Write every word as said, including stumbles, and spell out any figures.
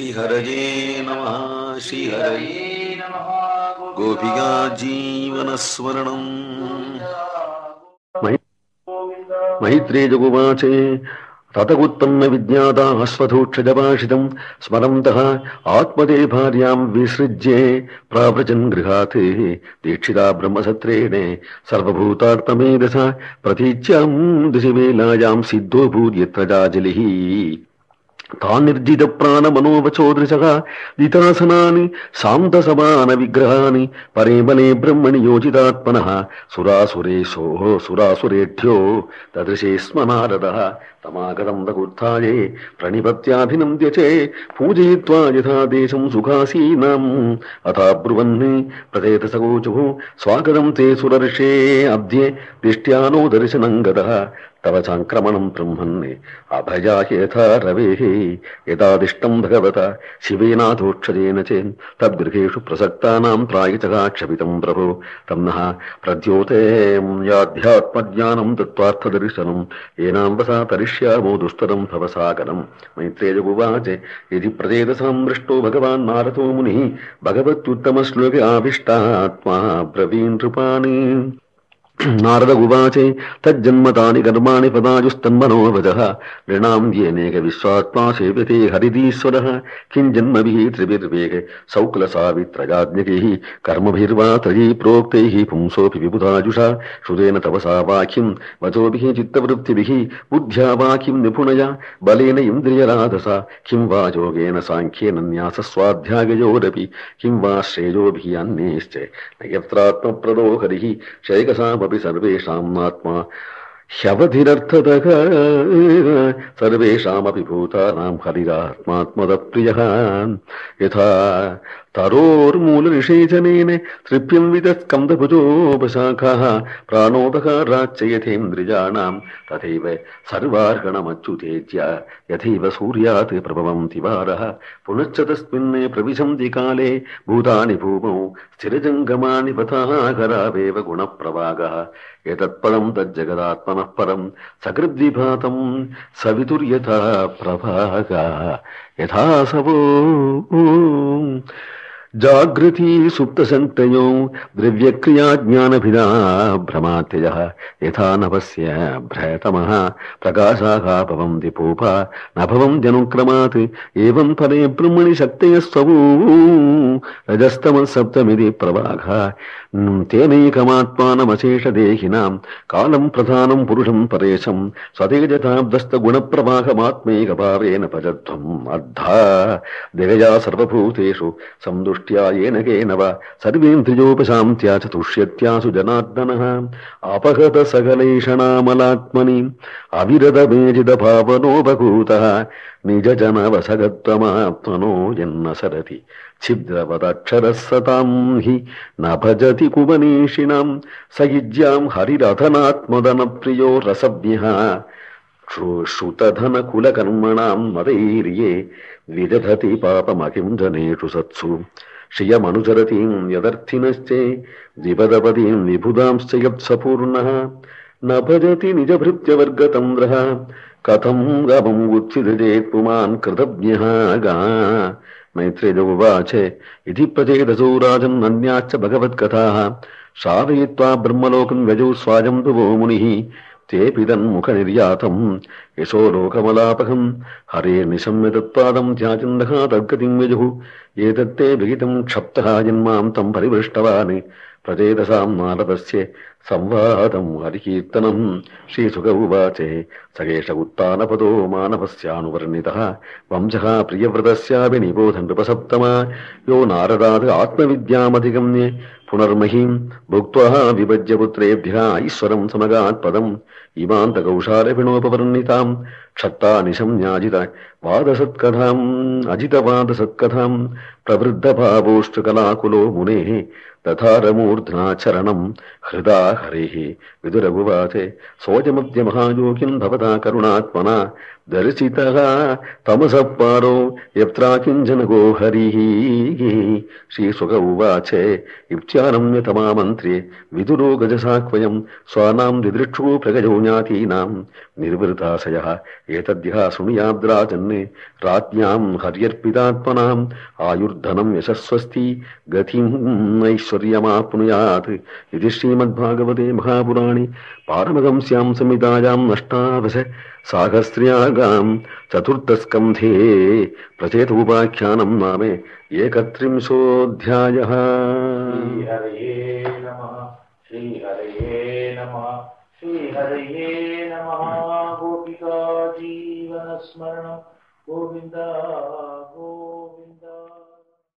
श्रीहरये नमः श्रीहरये नमः। गोपिका जीवनस्मरणम्। मैत्रेयगुवाचे ततगुत्पन्न विज्ञाता अश्वथोक्षजभाषितम् स्मरन्तः आत्मदे भार्यां विसृज्ये प्राव्रजन् गृहात् दीक्षिता ब्रह्मसत्रेण सर्वभूतार्थमेधसा प्रतीच्यां दिशिवेलायां सिद्धो भूद्यत्र जाजलिः तानिर्जित प्राण मनोवचोदृशः दितासनानि शान्तसमान विग्रहानि परेमले ब्रह्मणि योजितात्मनः सुरासुरेशोः सुरासुरेढ्यो तदृशे स्म नारदः तमागतं रघुत्थाये प्रणिपत्याभिनन्द्य च पूजयित्वा यथा देशं सुखासीनाम् अथा ब्रुवन् प्रथेत सगोचुः स्वागतं ते सुरर्षे अद्य दिष्ट्यानो दर्शनं गतः तव चाङ्क्रमणं ब्रह्मन् अभयाय यथा रवेः यदादिष्टं भगवता शिवेनाथोक्षजेन चेन् तद्गृहेषु प्रसक्तानां प्रायचः क्षपितं प्रभो तं नः प्रद्योते याध्यात्मज्ञानं तत्त्वार्थदर्शनं येनां वसा तरिष्यामो दुस्तरं भवसागरम्। मैत्रेयगुवाच यदि प्रचेतसां दृष्टो भगवान् नारदो मुनिः भगवत्युत्तमश्लोके आविष्टात्मा ब्रवीन् नृपाणि। नारद उवाचे तज्जन्मतानि कर्माणि पदायुस्तन्मनोवजः नृणां येनेक विश्वात्मा सेव्यते हरिदीश्वरः किं जन्मभिः त्रिभिर्वेग सौक्लसावित्रयाज्ञकैः कर्मभिर्वा त्रयी प्रोक्तैः पुंसोऽपि विबुधाजुषा श्रुतेन तपसा वाक्यं वचोभिः चित्तवृत्तिभिः बुद्ध्या वाक्यं निपुणया बलेन इन्द्रियराधसा किं वा योगेन साङ्ख्येन न्यासस्वाध्याययोरपि किं वा श्रेयोभिः अन्यैश्च न यत्रात्मप्रदो हरिः शैकसा सर्वेषाम् आत्मा ह्यवधिरर्थतः सर्वेषामपि भूतानां हरिरात्मात्मदप्रियः यथा तरोर्मूलनिषेचनेन तृप्यन्वितस्कन्धभुजोपशाखाः प्राणोदकाराच्च यथेन्द्रियाणां तथैव सर्वार्हणमच्युतेज्य यथैव सूर्यात् प्रभवन्ति वारः पुनश्च तस्मिन् प्रविशन्ति काले भूतानि भूमौ स्थिरजङ्गमानि पथाकरावेव गुणप्रवागः एतत्परं तज्जगदात्मनः परं सकृद्विभातं सवितुर्यथा प्रभागा यथा सवो जागृति सुप्तसंतयो द्रव्यक्रियाज्ञानभिदा भ्रमात्ययः यथा नभस्य भ्रयतमः प्रकाशाः भवन्ति पूपा न भवन्त्यनुक्रमात् एवं परे ब्रह्मणि शक्तयस्वभू रजस्तमः सप्तमिति प्रवाहः तेनैकमात्मानमशेषदेहिनां कालं प्रधानं पुरुषं परेशं स्वतेजताब्दस्तगुणप्रवाहमात्मैकभावेन भजध्वम् अर्धा दिगजा सर्वभूतेषु संदुष्ट्या येन केन वा सर्वेन्द्रियोपशान्त्या च तुष्यत्यासु जनार्दनः अपहत सकलैषणामलात्मनि अविरतमेजितभावनोपभूतः निजजनवसगत्वमात्मनो यन्न सरति छिद्रवदक्षरः सतां हि न भजति कुवनीषिणां सयुज्यां हरिरधनात्मदनप्रियो रसज्ञः श्रुतधनकुलकर्मणां मदैर्ये विदधति पापमकिं जनेषु सत्सु श्रियमनुचरतीं यदर्थिनश्चे द्विपदपदीं विबुधांश्च यत्सपूर्णः न भजति निजभृत्यवर्गतन्द्रः कथं गमं उत्सिदेत् पुमान् कृतज्ञः गा। मैत्रेयउवाच इति प्रचेतसो राजन् अन्याश्च भगवत्कथाः श्रावयित्वा ब्रह्मलोकं व्यजौ स्वाजं दुवो मुनिः तेऽपि तन्मुखनिर्यातं यशो लोकमलापकं हरेर्निशम्य तत्पादं ध्याचन्दः तद्गतिं व्यजुः एतत्ते विहितं क्षप्तः जन्मां तं परिवृष्टवान् प्रचेतसां नारदस्य संवादं हरिकीर्तनं श्रीसुक उवाच सगेश उत्तानपदो मानवस्यानुवर्णितः वंशः प्रियव्रतस्यापि निबोध नृपसप्तमा यो नारदात् आत्मविद्यामधिगम्य पुनर्महीं भुक्त्वा विभज्य पुत्रेभ्यः ईश्वरं समगात् पदम् इमान्तकौशालपिणोपवर्णितां क्षत्तानिशम्याजित वादसत्कथाम् अजितवादसत्कथां प्रवृद्धभावोष्टकलाकुलो मुनेः तथारमूर्ध्ना चरणं हृदा हरेः। विदुरगुवाच सोऽयमद्य महायोगिन् भवता करुणात्मना दर्शितः तमसः पारो यत्रा किञ्जनको हरिः श्रीशुक उवाच इत्यानम्यतमामन्त्र्ये विदुरो गजसाक्वयम् स्वानाम् दिदृक्षु प्रगजौ ज्ञातीनाम् निर्वृताशयः एतद्यः शृणुयाद्राजन् राज्ञाम् हर्यर्पितात्मनाम् आयुर्धनम् यशस्वस्ति गतिम् ऐश्वर्यमाप्नुयात् इति श्रीमद्भागवते महापुराणे पारमहंस्याम् संहितायाम् अष्टादश साहस्र्यागाम् चतुर्थस्कन्धे प्रचेतोपाख्यानम् नाम एकत्रिंशोऽध्यायः। श्रीहरये नमः। श्रीहरये नमः। श्रीहरये नमः। गोपिका जीवनस्मरणं गोविन्द